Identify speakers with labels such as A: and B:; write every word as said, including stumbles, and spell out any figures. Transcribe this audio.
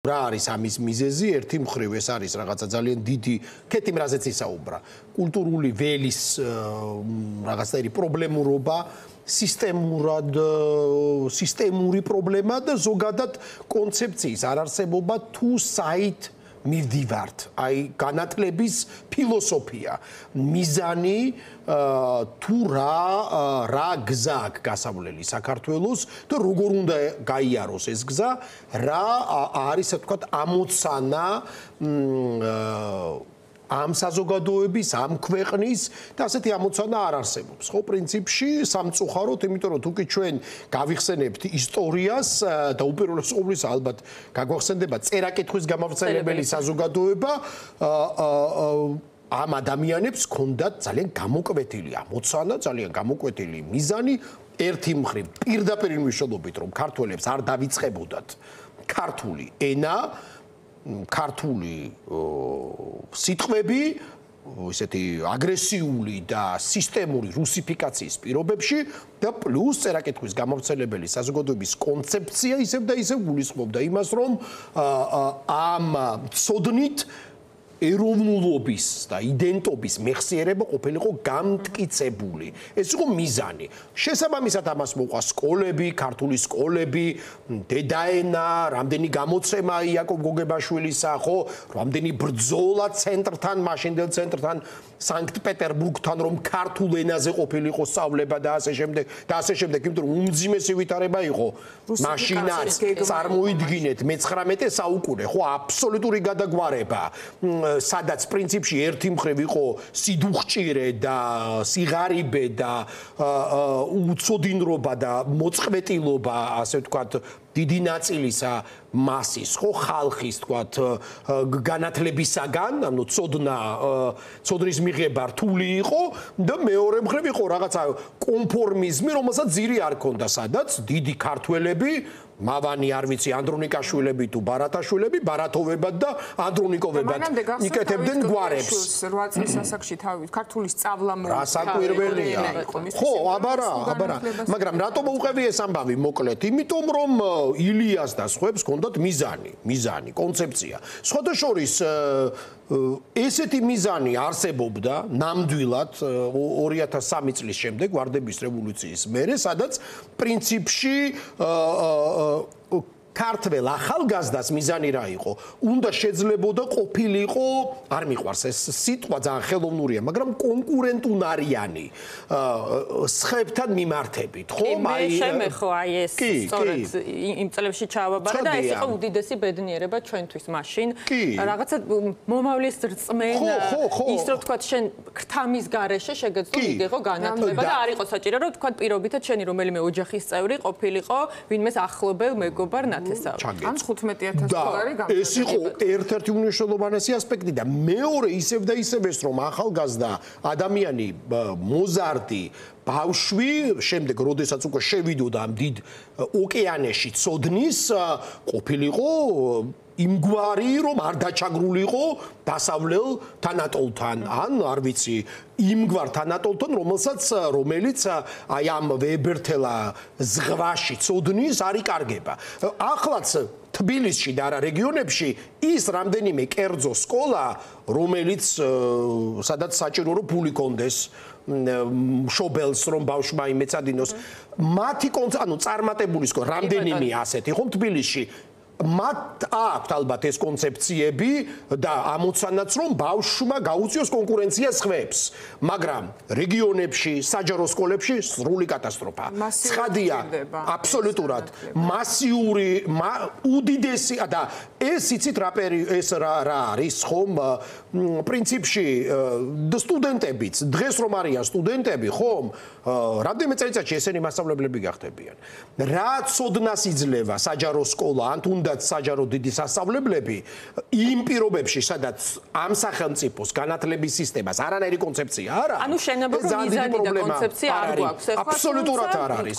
A: რა არის ამის მიზეზი? ერთი მხრივ ეს არის რაღაცა ძალიან დიდი კეთილ რაზეც ისაუბრა. კულტურული ველის რაღაცნაირი პრობლემურობა, სისტემურად სისტემური პრობლემა და ზოგადად კონცეფციის არარსებობა თუ საით მივდივართ. აი განათლების ფილოსოფია, მიზანი თუ რა რა გზა აქვს გასავლელი საქართველოს და როგორ უნდა გაიაროს ეს გზა, რა არის ასე ვთქვათ ამოცანა ამ საზოგადოების, ამ ქვეყნის და ასეთი ამოცანა არ არსებობს. ხო, პრინციპში სამწუხაროდ, იმიტომ რომ თუკი ჩვენ გავიხსენებთ ისტორიას და უპირველეს ყოვლისა ალბათ გაგვახსენდება წერა-კითხვის გამავრცელებელი საზოგადოება, ამ ადამიანებს ჰქონდათ ძალიან გამოკვეთილი ამოცანა, ძალიან გამოკვეთილი მიზანი, ერთი მხრივ პირდაპირ მნიშვნელობით, რომ ქართველებს არ დავიწყებოდათ ქართული ენა, ქართული სიტყვები, ესეთი აგრესიული და სისტემური რუსიფიკაციის პირობებში და პლუს წერა-კითხვის გამავრცელებელი საზოგადოების კონცეფცია ისევ და ისევ გულისხმობდა იმას, რომ ამ ცოდნით ეროვნულობის და იდენტობის მეხსიერება ყოფილიყო გამტკიცებული. ეს იყო მიზანი. შესაბამისად ამას მოყვა სკოლები, ქართული სკოლები, დედაენა, რამდენი გამოცემა იაკობ გოგებაშვილისა, ხო, რამდენი ბრძოლა ცენტრთან, მაშინდელ ცენტრთან, სანქტ-პეტერბურგთან, რომ ქართულ ენაზე ყოფილიყო სწავლება და ასე შემდეგ და ასე შემდეგ, იმიტომ რომ უმძიმესი ვითარება იყო მაშინაც წარმოიდგინეთ მეცხრამეტე საუკუნე, ხო, აბსოლუტური გადაგვარება. სადაც პრინციპში ერთი მხრივ იყო სიდუხჭირე და სიღარიბე და უცოდინრობა და მოწყვეტილობა, ასე ვთქვათ, დიდი ნაწილისა მასის, ხო, ხალხის, ვთქვათ, განათლებისაგან, ანუ ცოდნა, ცოდნის მიღება რთული იყო და მეორე მხრივ იყო რაღაცა კონფორმიზმი, რომელსაც ძირი არ ქონდა, სადაც დიდი ქართველები, მავანი არ ვიცი, ანდრონიკაშვილები თუ ბარათაშვილები, ბარათოვებად და ანდრონიკოვებად იკეთებდნენ გვარებს.
B: რვა წლის ასაკში თავი ქართული სწავლა მოუწია.
A: რასაკვირველია. ხო, აბარა, აბარა. მაგრამ რატომ უყევი ეს ამბავი მოკლედ? იმიტომ რომ ილიას და სხვებს ჰქონდათ მიზანი, მიზანი, კონცეფცია. სხვადასხვის ესეთი მიზანი არსებობდა ნამდვილად ორი ათას სამი წლის შემდეგ ვარდების რევოლუციის მერე, სადაც პრინციპში ქართველ ახალგაზრდას მიზანი რა იყო? უნდა შეძლებოდა ყოფილიყო, არ მიყვარს ეს სიტყვა, ძალიან ხელოვნურია, მაგრამ კონკურენტუნარიანი სხვებთან მიმართებით, ხო?
C: აი შემეხო აი ეს სწორედ იმ წლებში ჩავაბარა და ეს იყო უდიდესი ბედნიერება ჩვენთვის მაშინ. რაღაცა მომავლის რწმენა, ის რომ თქვა შენ ქრთამის garaშე შეგეძლო მიგეღო განათლება და არ იყო საჭირო რომ თქვა პირობითად შენი რომელიმე ოჯახის წევრი ყოფილიყო, ვინმეს ახლობელ მეგობარ
B: ან თხუთმეტი ათასი დოლარი
A: გამოგდა. ეს იყო ერთ-ერთი უმნიშვნელოვანესი ასპექტი და მეორე ისევ და ისევ ეს რომ ახალგაზრდა ადამიანი მოზარდი ბავშვი, შემდეგ როდესაც უკვე შევიდოდა ამ დიდ ოკეანეში ცოდნის, ყოფილიყო იმგვარი რომ არ დაჩაგრულიყო დასავლელ თანატოლთან, ან არ ვიცი, იმგვარ თანატოლთან, რომელსაც რომელიც აი ამ ვებერთელა ზღვაში ცოდნის არ იკარგება. ახლაც თბილისში და არა რეგიონებში ის რამდენიმე კერძო სკოლა, რომელიც სადაც საჭირო რომ ფული კონდეს მშობელს რომ ბავშვმა იმეცადინოს, მათი ანუ წარმატებული სკოლა რამდენიმე ასეთი ხომ თბილისში მათ აქვთ ალბათ ეს კონცეფციები და ამოცანაც რომ ბავშვმა გაუწიოს კონკურენცია სხვებს, მაგრამ რეგიონებში, საჯარო სკოლებში სრული კატასტროფა. ცხადია, აბსოლუტურად მასიური, უდიდესი და ეს იცით რა ეს რა არის ხომ პრინციპში სტუდენტებიც, დღეს რომ არიან სტუდენტები, ხომ, რამდენიმე წელიწადში ესენი მასწავლებლები გახდებიან. რა ცოდნას იძლევა საჯარო სკოლა, ან თუნდაც საჯარო დიდი სასწავლებლები იმ პირობებში, სადაც ამ სახელმწიფოს განათლების სისტემას არანაირი კონცეფცია არ არის.
C: ანუ შენობა რომ მიზანი და კონცეფცია არ გვაქვს,
A: აბსოლუტურად არ არის.